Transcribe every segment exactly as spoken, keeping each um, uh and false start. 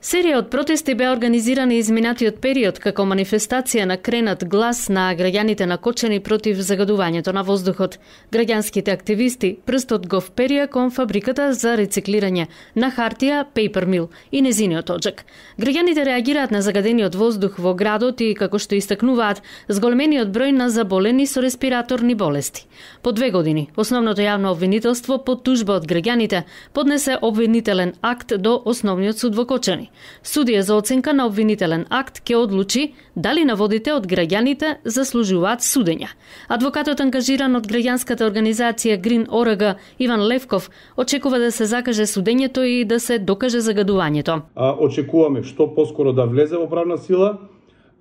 Серија од протести беа организирани изминатиот период како манифестација на кренат глас на граѓаните на Кочани против загадувањето на воздухот. Граѓанските активисти прстот го вперија кон фабриката за рециклирање на хартија Paper Mill и незиниот оджак. Граѓаните реагираат на загадениот воздух во градот и, како што истакнуваат, зголемениот број на заболени со респираторни болести. По две години, основното јавно обвинителство по тужба од граѓаните поднесе обвинителен акт до Основниот суд во Кочани. Судија за оценка на обвинителен акт ќе одлучи дали наводите од граѓаните заслужуваат судење. Адвокатот ангажиран од граѓанската организација Green о ар ге Иван Левков очекува да се закаже судењето и да се докаже загадувањето. А, очекуваме што поскоро да влезе во правна сила.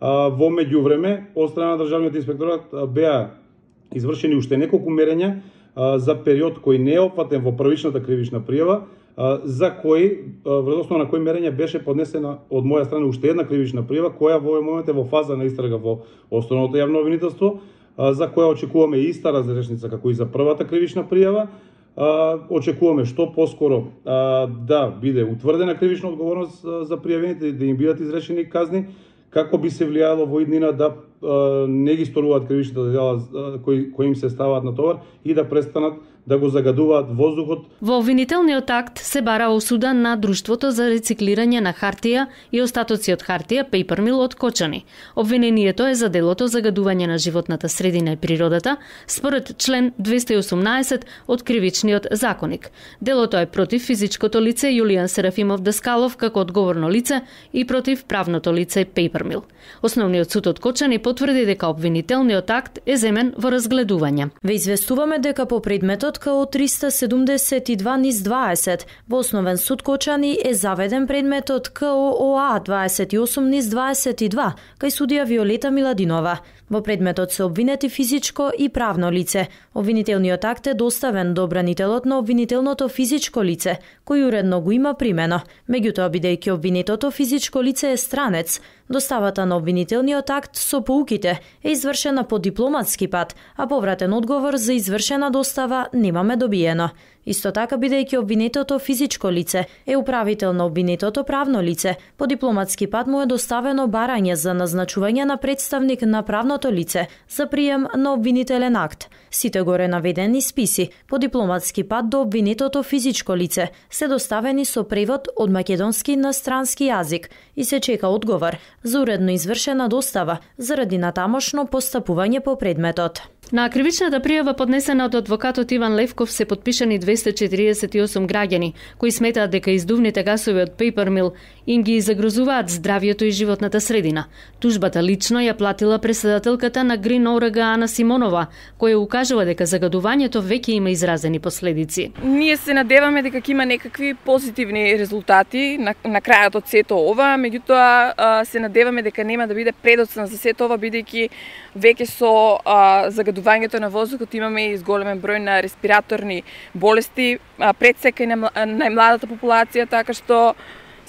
А, во меѓувреме, од страна на државниот инспекторат беа извршени уште неколку мерења а, за период кој не е опфатен во првичната кривична пријава, за кој, врз основа на кој мерења беше поднесена од моја страна уште една кривична пријава, која во овој момент е во фаза на истрага во Основното јавно обвинителство, за која очекуваме иста разрешница како и за првата кривична пријава. Очекуваме што поскоро да биде утврдена кривична одговорност за пријавените, да им бидат изречени казни, како би се влијало во иднина да не ги сторуваат кривичните дела кои, кои им се ставаат на товар и да престанат да го загадуваат воздухот. Во обвинителниот акт се бара осуда на Друштвото за рециклирање на хартија и остатоци од хартија Paper Mill од Кочани. Обвинението е за делото загадување на животната средина и природата според член двеста и осумнаесет од Кривичниот законик. Делото е против физичкото лице Јулијан Серафимов Даскалов како одговорно лице и против правното лице Paper Mill. Основниот суд од Кочани потврди дека обвинителниот акт е земен во разгледување. Ве известуваме дека по предметот КО триста седумдесет и два низ дваесет во Основен суд Кочани е заведен предметот КО ОА дваесет и осум низ дваесет и два кај судија Виолета Миладинова. Во предметот се обвинети физичко и правно лице. Обвинителниот акт е доставен до бранителот на обвинителното физичко лице, кој уредно го има примено. Меѓутоа, бидејќи обвинетото физичко лице е странец, доставата на обвинителниот акт со поуките е извршена по дипломатски пат, а повратен одговор за извршена достава немаме добиено. Исто така, бидејќи обвинетото физичко лице е управител на обвинетото правно лице, по дипломатски пат му е доставено барање за назначување на представник на правното лице за прием на обвинителен акт. Сите горе наведени списи по дипломатски пат до обвинетото физичко лице се доставени со превод од македонски на странски јазик и се чека одговор за уредно извршена достава заради натамошно постапување по предметот. На кривичната пријава поднесена од адвокатот Иван Левков се подпишани двеста четириесет и осум граѓани кои сметаат дека издувните гасови од Paper Mill им ги загрозуваат здравјето и животната средина. Тужбата лично ја платила преседателката на Green о ар ге Ана Симонова, која укажува дека загадувањето веќе има изразени последици. Ние се надеваме дека ќе има некакви позитивни резултати на, на крајот од сето ова, меѓутоа се надеваме дека нема да биде предоцна за сето ова, бидејќи веќе со а, загадувањето на воздухот имаме и зголемен број на респираторни болести, предсека и на најмладата популација, така што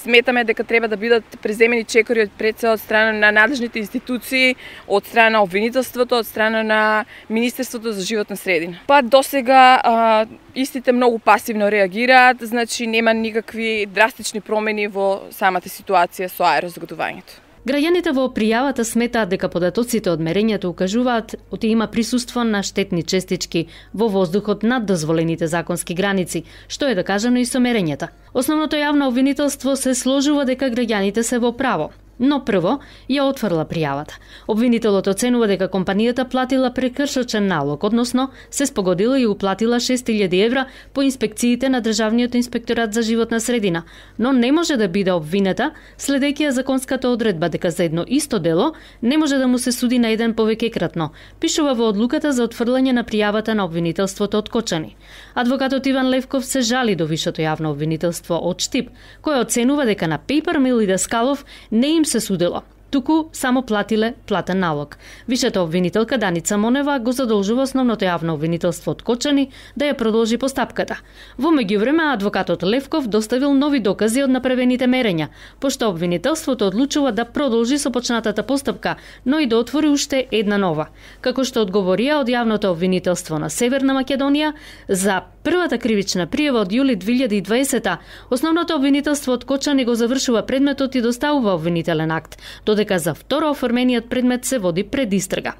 сметаме дека треба да бидат преземени чекори од предсе од страна на надлежните институции, од страна на обвинителството, од страна на Министерството за животна средина. Па досега а, истите многу пасивно реагираат, значи нема никакви драстични промени во самата ситуација со аерозагадувањето. Граѓаните во пријавата сметаат дека податоците од мерењето укажуваат оти има присуство на штетни честички во воздухот над дозволените законски граници, што е докажано и со мерењата. Основното јавно обвинителство се сложува дека граѓаните се во право, но прво ја отфрла пријавата. Обвинителот оценува дека компанијата платила прекршочен налог, односно се спогодила и уплатила шест илјади евра по инспекциите на Државниот инспекторат за животна средина, но не може да биде обвинета следејќи ја законската одредба дека за едно исто дело не може да му се суди на еден повеќекратно, пишува во одлуката за отфрлање на пријавата на обвинителството од Кочани. Адвокатот Иван Левков се жали до Вишето јавно обвинителство од Штип, кој оценува дека на Paper Mill и Даскалов не им се судило, туку само платиле платен налог. Вишата обвинителка Даница Монева го задолжува основното јавно обвинителство од Кочани да ја продолжи постапката. Во меѓувреме адвокатот Левков доставил нови докази од направените мерења, пошто обвинителството одлучува да продолжи со почнатата постапка, но и да отвори уште една нова. Како што одговорија од јавното обвинителство на Северна Македонија, за првата кривична пријава од јули две илјади и дваесета, основното обвинителство од Кочани го завршува предметот и доставува обвинителен акт, додека за второ оформениот предмет се води предистрага.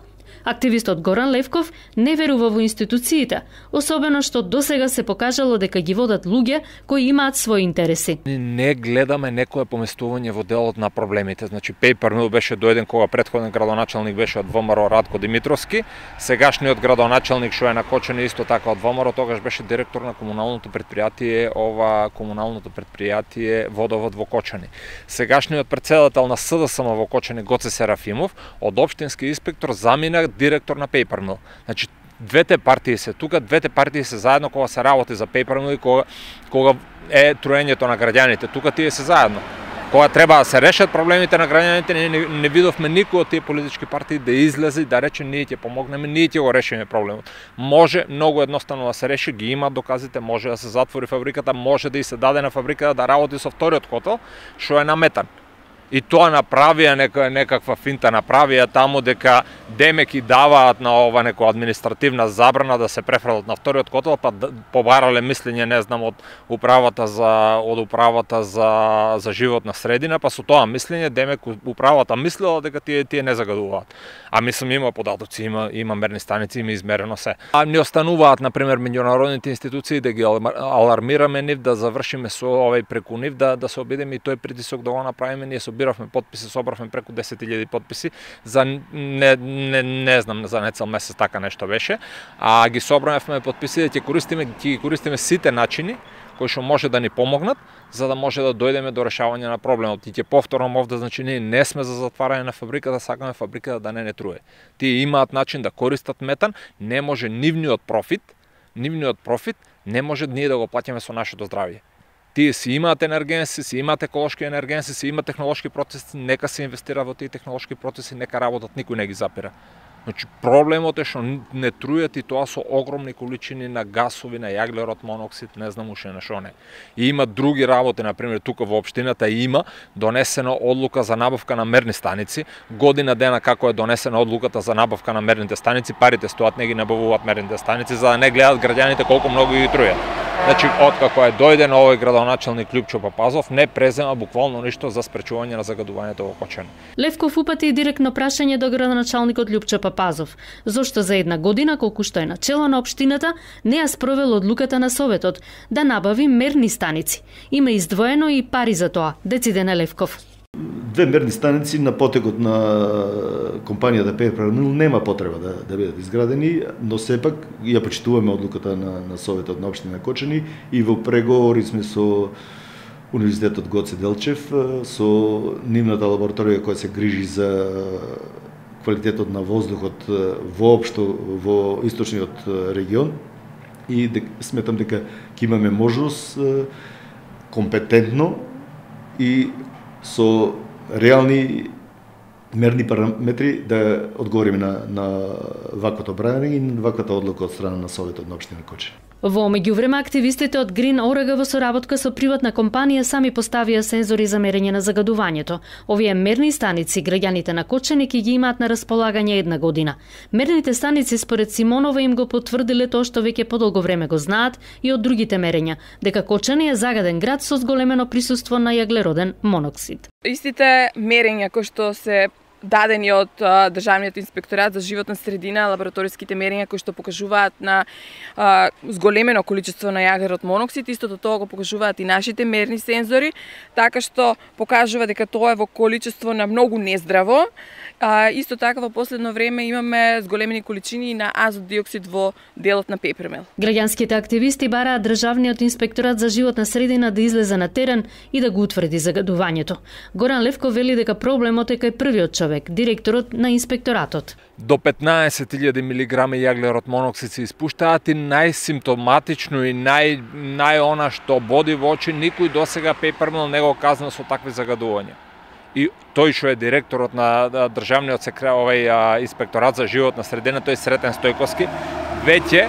Активистот Горан Левков не верува во институциите, особено што досега се покажало дека ги водат луѓе кои имаат своји интереси. Не гледаме некое поместување во делот на проблемите. Значи Пейпермил беше доеден кога претходен градоначалник беше од ВМРО Радко Димитровски, сегашниот градоначалник што е на Кочани исто така од ВМРО, тогаш беше директор на комуналното предпријатие, ова комуналното предпријатие Водовод во Кочани. Сегашниот претседател на СДСМ во Кочани Гоце Серафимов од општински инспектор замина директор на Пейпермил. Значи, двете партии се тука, двете партии се заедно кога се работи за Пейпермил и кога, кога е труењето на граѓаните. Тука тие се заедно. Кога треба да се решат проблемите на граѓаните, не, не, не видовме никој од тие политички партии да излезе и да рече ние ќе помогнеме, ние ќе го решиме проблемот. Може многу едноставно да се реши, ги има доказите, може да се затвори фабриката, може да и се даде на фабриката да работи со вториот хотел, што е наметан. И тоа направија нека, некаква финта, направија таму дека демек и даваат на ова некоја административна забрана да се префрлат на вториот котел, па побарале мислење, не знам, од управата за од управата за за животна средина, па со тоа мислење демек управата мислела дека тие тие не загадуваат. А мислам има податоци, има има мерни станици, има измерено се. А не остануваат на пример меѓународните институции да ги алармираме нив, да завршиме со овој преку нив, да да се обидеме и тој притисок да го направиме. Ние собиравме потписи, собравме преку десет илјади потписи за не не не знам за нецел месец така нешто беше, а ги собравме потписи да ќе користиме ќе користиме сите начини кои што може да ни помогнат за да може да дојдеме до решавање на проблемот. И ќе повторам овде, значи ние не сме за затварање на фабриката, сакаме фабриката да не не труе. Тие имаат начин да користат метан, не може нивниот профит, нивниот профит не може ние да го плаќаме со нашето здравје. Тие си имаат енергенси, си имаат еколошки енергенси, си имаат технолошки процеси, нека се инвестира во тие технолошки процеси, нека работат, никој не ги запира. Значи проблемот е што не трујат и тоа со огромни количини на гасови, на јаглерод моноксид, не знам уште на што не. И има други работи, на пример тука во општината има донесена одлука за набавка на мерни станици. Година дена како е донесена одлуката за набавка на мерните станици, парите стоат, не ги набавуваат мерните станици за да не гледат граѓаните колку многу ги трујат. Значи откако е дојден овој градоначалник Љупчо Папазов, не презема буквално ништо за спречување на загадувањето во Кочани. Левков упати директно прашање до градоначалникот Љупчо Папазов, зошто за една година колку што е начело на општината не ја спровел одлуката на Советот да набави мерни станици. Има издвоено и пари за тоа, дециден Левков. Две мерни станици на потекот на компанијата Пейпермил нема потреба да, да бидат изградени, но сепак ја почитуваме одлуката на, на Советот на општина Кочани и во преговори сме со Универзитетот Гоце Делчев, со нивната лабораторија која се грижи за квалитетот на воздухот воопшто во источниот регион и дек, сметам дека ќе имаме можност компетентно и со реални мерни параметри да одговориме на, на ваквото брање и на ваквата одлука од страна на Советот на општина Кочани. Во меѓувреме активистите од Green Орега во соработка со приватна компанија сами поставија сензори за мерење на загадувањето. Овие мерни станици граѓаните на Кочани ќе ги имаат на располагање една година. Мерните станици според Симонова им го потврдиле тоа што веќе подолго време го знаат и од другите мерења, дека Кочани е загаден град со зголемено присуство на јаглероден моноксид. Истите мерења кои што се дадени од а, Државниот инспекторат за животна средина, лабораториските мерења кои што покажуваат на а, зголемено количество на јаглерод моноксид, истото тоа го покажуваат и нашите мерни сензори, така што покажува дека тоа е во количество на многу нездраво. А, исто така во последно време имаме зголемени количини на азот диоксид во делот на Пейпермил. Граѓанските активисти бараат Државниот инспекторат за животна средина да излезе на терен и да го утврди загадувањето. Горан Левков вели дека проблемот е кај првиот човек, директорот на инспекторатот. До петнаесет илјади милиграми јаглерод моноксид се испуштаат и најсимптоматично и нај нај она што боди во очи, никој досега Пейпермил не го казна со такви загадувања. и тој што е директорот на државниот секретар, овај инспекторат за животна средина, тој Сретен Стојковски, веќе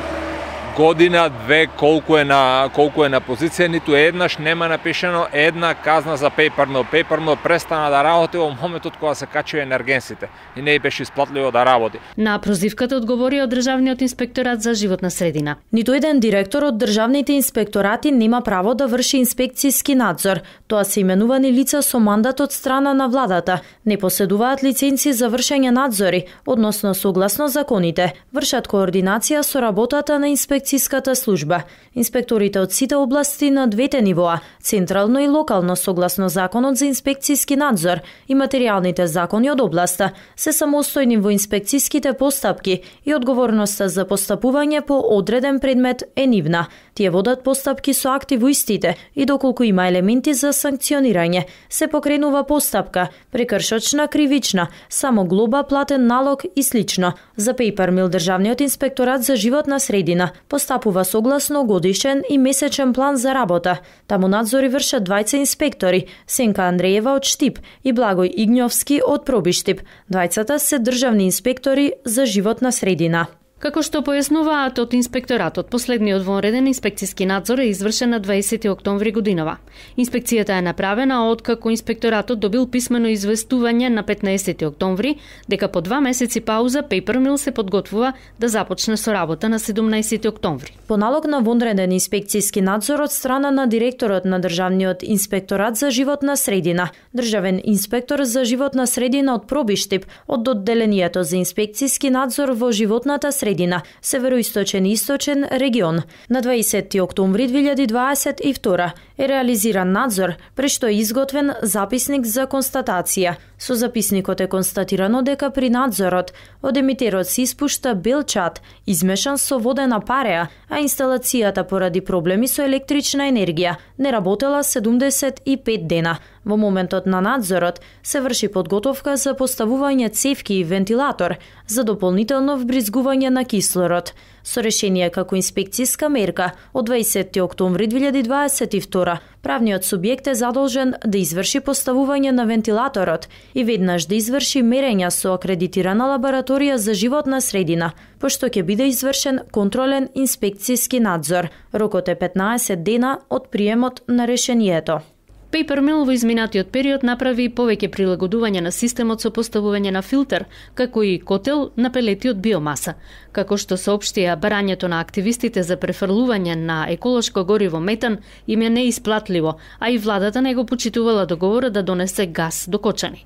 година, две, колку е на колку е на позиција, ниту еднаш нема напишано една казна за Paper Mill. Paper Mill престана да работи во моментот кога се качи енергенсите и не беше исплатливо да работи. На прозивката одговори од Државниот инспекторат за животна средина. Ниту еден директор од државните инспекторати нема право да врши инспекцијски надзор. Тоа се именувани лица со мандат од страна на владата. Не поседуваат лиценци за вршење надзори, односно согласно законите, вршат координација со работата на инспекцијската служба. Инспекторите од сите области на двете нивоа, централно и локално согласно законот за инспекцијски надзор и материјалните закони од областа, се самостојни во инспекцијските постапки и одговорноста за постапување по одреден предмет е нивна. Тие водат постапки со акти во истите и доколку има елементи за санкционирање, се покренува постапка, прекршочна, кривична, само глоба, платен налог и слично. За Paper Mill Државниот инспекторат за животна средина постапува согласно годишен и месечен план за работа. Таму надзори вршат двајца инспектори, Сенка Андреева од Штип и Благој Игњовски од Пробиштип. Двајцата се државни инспектори за животна средина. Како што појаснуваат од инспекторатот, последниот вонреден инспекцијски надзор е извршен на дваесети октомври годинава. Инспекцијата е направена откако инспекторатот добил писмено известување на петнаесети октомври дека по два месеци пауза Paper Mill се подготвува да започне со работа на седумнаесети октомври. По налог на вонреден инспекцијски надзор од страна на директорот на Државниот инспекторат за животна средина, државен инспектор за животна средина од Пробиштип, од одделението за инспекцијски надзор во животната средина, Североисточен и Источен регион. На дваесети октомври две илјади дваесет и втора е реализиран надзор, прешто е изготвен записник за констатација. Со записникот е констатирано дека при надзорот од емитерот се испушта бел чад, измешан со водена пареа, а инсталацијата поради проблеми со електрична енергија не работела седумдесет и пет дена. Во моментот на надзорот се врши подготовка за поставување цевки и вентилатор за дополнително вбризгување на кислород. Со решение како инспекцијска мерка од дваесети октомври две илјади дваесет и втора, правниот субјект е задолжен да изврши поставување на вентилаторот и веднаш да изврши мерења со акредитирана лабораторија за животна средина, пошто ќе биде извршен контролен инспекцијски надзор. Рокот е петнаесет дена од приемот на решението. Paper Mill во изминатиот период направи повеќе прилагодување на системот со поставување на филтер, како и котел на пелети од биомаса. Како што соопштија, барањето на активистите за префрлување на еколошко гориво метан им е неисплатливо, а и владата не го почитувала договорот да донесе газ до Кочани.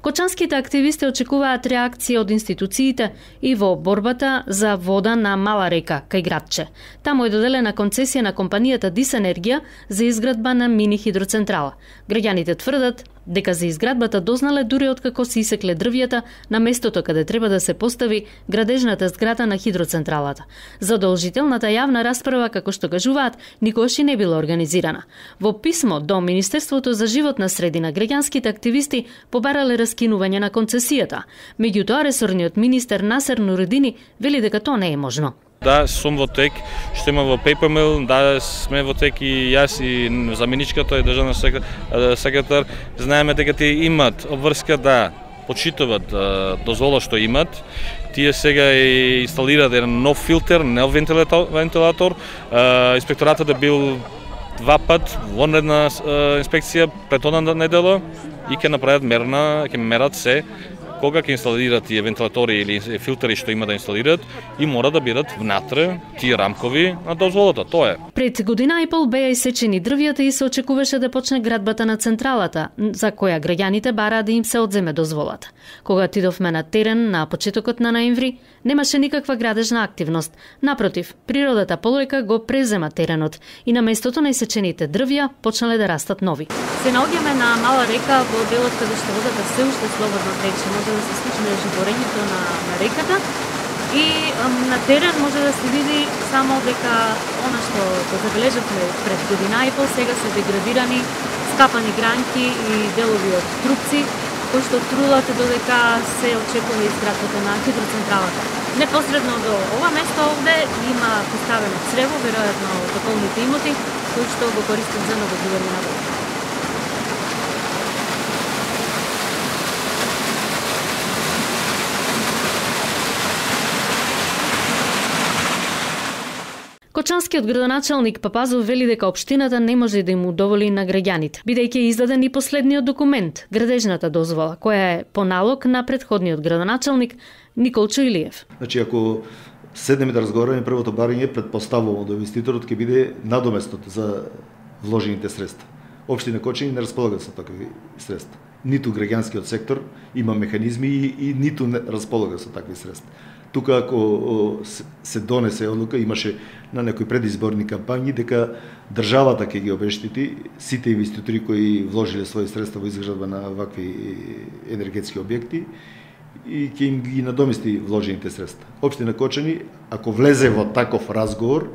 Кочанските активисти очекуваат реакција од институциите и во борбата за вода на Мала река кај градче. Таму е доделена концесија на компанијата Дис Енергија за изградба на мини хидроцентрала. Граѓаните тврдат дека за изградбата дознале дури откако се исекле дрвјата на местото каде треба да се постави градежната зграда на хидроцентралата. Задолжителната јавна расправа, како што кажуваат, никогаш и не била организирана. Во писмо до Министерството за животна средина, граѓанските активисти побарале раскинување на концесијата. Меѓутоа, ресорниот министер Насер Нуредини вели дека тоа не е можно. Да, сум во тек, што има во Paper Mill, да, сме во тек и јас и заменичката и државна секретар. Знаеме дека тие имат обврска да почитуваат дозвола што имат. Тие сега и инсталираат еден нов филтер, нов вентилатор. вентилатор. Инспекторатот е бил два пат вонредна инспекција пред одна недела и ќе направат мерна, ќе мерат се кога ќе инсталираат тие вентилатори или филтери што има да инсталираат и мора да бидат внатре тие рамкови на дозволата. Тоа е. Пред година и пол беа исечени дрвјата и се очекуваше да почне градбата на централата, за која граѓаните бараа да им се одземе дозволата. Кога отидовме на терен на почетокот на ноември, немаше никаква градежна активност. Напротив, природата полека го презема теренот и на местото на исечените дрвја почнале да растат нови. Се наоѓаме на Мала река во делот каде што водата се уште слободно тече, може да се слушне живорењето на, на реката и ам, на терен може да се види само дека она што го забележавме пред година и пол сега се деградирани, скапани гранки и делови од трупци, кои што трулат додека се очекува изградбата на хидроцентралата. Непосредно до ова место овде има поставено црево, веројатно од околните имоти, кои што го користат за наводнување на вода. Кочанскиот градоначалник Папазов вели дека општината не може да им удоволи на граѓаните, бидејќи е издаден и последниот документ, градежната дозвола, која е по налог на претходниот градоначалник Николчо Илиев. Значи, ако седнеме да разговараме, првото барање предпоставувам да инвеститорот ќе биде надоместот за вложените средства. Општина Кочани не располага со такви средства. Ниту граѓанскиот сектор има механизми и, и ниту не располага со такви средства. Тука ако се донесе одлука, имаше на некои предизборни кампањи дека државата ќе ги обештити сите инвеститори кои вложиле своји средства во изградба на вакви енергетски објекти и ќе им ги надомести вложените средства. Општина Кочани, ако влезе во таков разговор,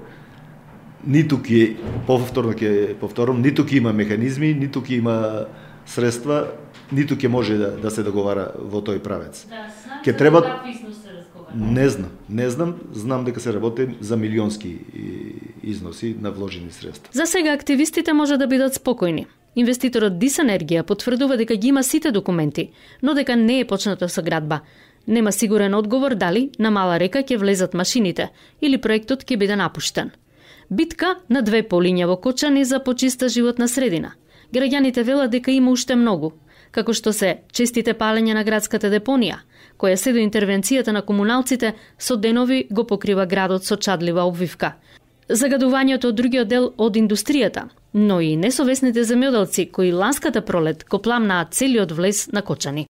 ниту ќе повторно ќе повторам, ниту ќе има механизми, ниту ќе има средства, ниту ќе може да, да се договара во тој правец. Да, ќе треба Не знам, не знам, знам дека се работи за милионски износи на вложени средства. За сега активистите може да бидат спокојни. Инвеститорот Дис Енергија потврдува дека ги има сите документи, но дека не е почната со градба. Нема сигурен одговор дали на Мала река ќе влезат машините или проектот ќе биде напуштен. Битка на две полиња во Кочани за почиста животна средина. Граѓаните велат дека има уште многу, како што се честите палења на градската депонија, која се до интервенцијата на комуналците со денови го покрива градот со чадлива обвивка. Загадувањето од другиот дел од индустријата, но и несовесните земјоделци кои ланската пролет го пламнаат целиот влез на Кочани.